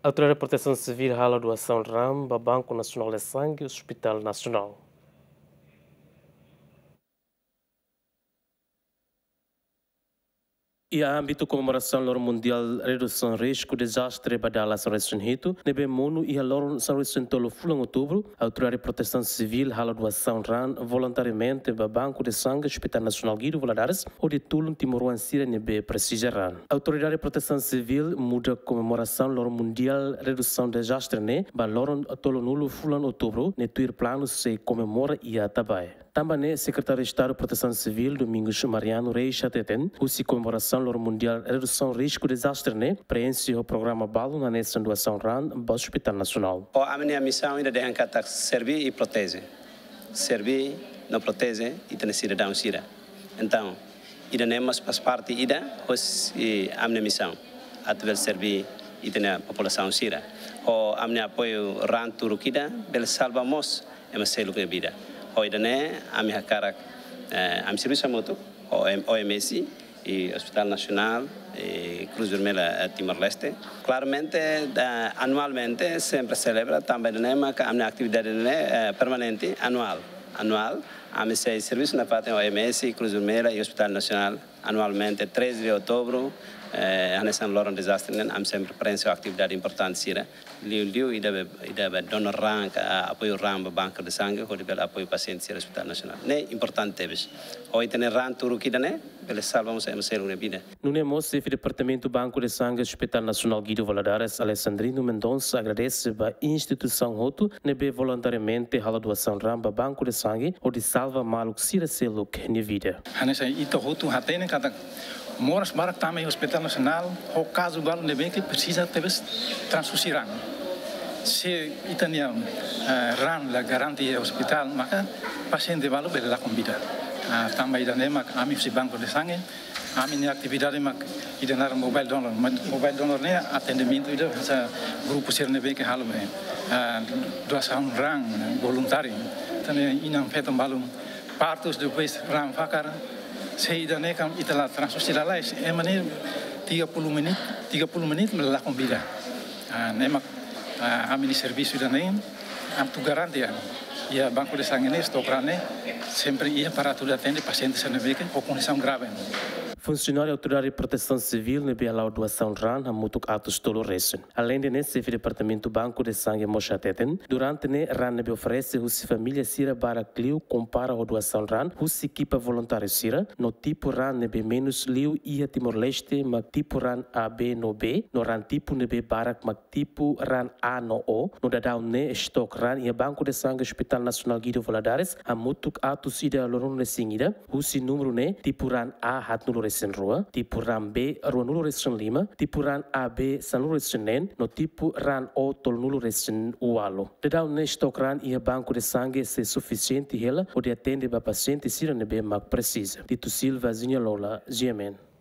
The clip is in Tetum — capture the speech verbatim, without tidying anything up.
Autoridade Protesaun Sivíl halo doasaun raan ba Banku Nasionál de Sange, Hospital Nasionál. Iha ámbitu komemorasaun Loron Mundiál Redusaun Risku Dezastre ba dala sanulu-resin-hitu, ne'ebé monu iha loron sanulu-resin-tolu fulan Outubru, Autoridade Protesaun Sivíl halo doasaun raan voluntariamente ba Banku de Sange Hospital Nasionál Guido Valadares, hodi tulun timoroan sira ne'ebé presiza raan. Autoridade Protesaun Sivíl muda komemorasaun Loron Mundiál Redusaun Dezastre ne'e ba loron tolunulu fulan Outubru, ne'e tuir planu sei komemora iha Atabae. Tanba ne'e, Sekretáriu Estadu Protesaun Sivíl, Domingos Mariano Reis hateten, husi komemorasaun Loron Mundiál Redusaun Risku Dezastre ne'e, preenxe ho programa balun hanesan doasaun raan ba Hospital Nasionál. Ho ami-nia misaun ida dehan katak serví i proteje. Serví no proteje ita-nia sidadaun sira. Entaun, ida-ne'e mós faz parte ida hosi ami-nia misaun. Atu bele serví ita-nia populasaun sira. Ho ami-nia apoiu raan turuk ida, bele salva mós ema seluk nia vida. Ho ida-ne'e, ami hakarak, eh, ami servisu hamutuk ho O M-, O M S i Hospital Nasionál i Cruz Vermelha, eh, Timor-Leste. Klaramente, da-, anualmente sempre selebra, tanba ida-ne'e maka ami-nia atividade ne'e, eh, permanente, anuál. Anuál, ami sei servisu nafatin O M S, Cruz Vermelha i Hospital Nasionál. Anualmente, treze de outubro, eh, hanesan loron dezastre ne'e, ami sempre preenxe atividade importante sira. Liuliu ida be, ida be dona raan ka, ah, apoiu raan ba Banku de Sange, hodi bele apoiu pasiente sira Hospital Nasionál. Ne'e importante tebes. Ho ita-nia raan turuk ida-ne'e, bele salva mós ema seluk nia vida. Nune'e mós, Xefe Departamentu Banku de Sange Hospital Nasionál Guido Valadares, Alexandrino Mendonça, agradese ba instituisaun hotu ne'ebé voluntariamente halo doasaun raan ba Banku de Sange, hodi salva maluk sira seluk nia vida. Hanesan ita hotu hatene katak moras barak tama iha Hospital Nasionál, ho kazu balu ne'ebé ke presiza tebes transfuzi raan. Se ita-nia, eh, raan la garante iha hospital, maka pasiente balu bele lakon vida. Ah, tanba ida-ne'e mak ami husi Banku de Sange, ami-nia atividade mak ida naran mobile donor. Ma-, mobile donor ne'e atendimentu ida hanesan grupu sira ne'ebé ke halo be, ah, doasaun raan voluntáriu. Tan ne'e inan-feton balu partus, depois raan fakar. Se ida-ne'e kan ita la transfuzi lalais, ema ne'e tiga puluh menit, tiga puluh menit la lakon vida. Ah, ne'e mak, ah, ami-nia servisu ida-ne'e atu garante, ah, iha Banku de Sange ne'e, stok raan ne'e sempre iha para atu atende pasiente sira ne'ebé ke ho kondisaun grave. Funsionáriu Autoridade Protesaun Sivíl ne'ebé hala'o doasaun raan hamutuk atus tolu resin. Aleinde ne'e, Xefe Departamentu Banku de Sange mós hateten, durante ne'e raan ne'ebé oferese husi família sira barak liu kompara ho doasaun raan husi ekipa voluntáriu sira, no tipu raan ne'ebé menus liu iha Timor-Leste mak tipu raan A, B no B, no raan tipu ne'ebé barak mak tipu raan A no O, no daudaun ne'e stok raan iha Banku de Sange Hospital Nasionál Guido Valadares hamutuk atus ida ruanulu-resin-ida, husi númeru ne'e tipu raan A haatnulu-resin-rua, tipu raan B ruanulu-resin-lima, tipu raan A B sanulu-resin-neen, no tipu raan O tolunulu-resin-ualu. Daudaun ne'e stok raan iha Banku de Sange sei sufisiente hela hodi atende ba pasiente sira ne'ebé mak presiza. Tito Silva, Zinha Lola, G M N.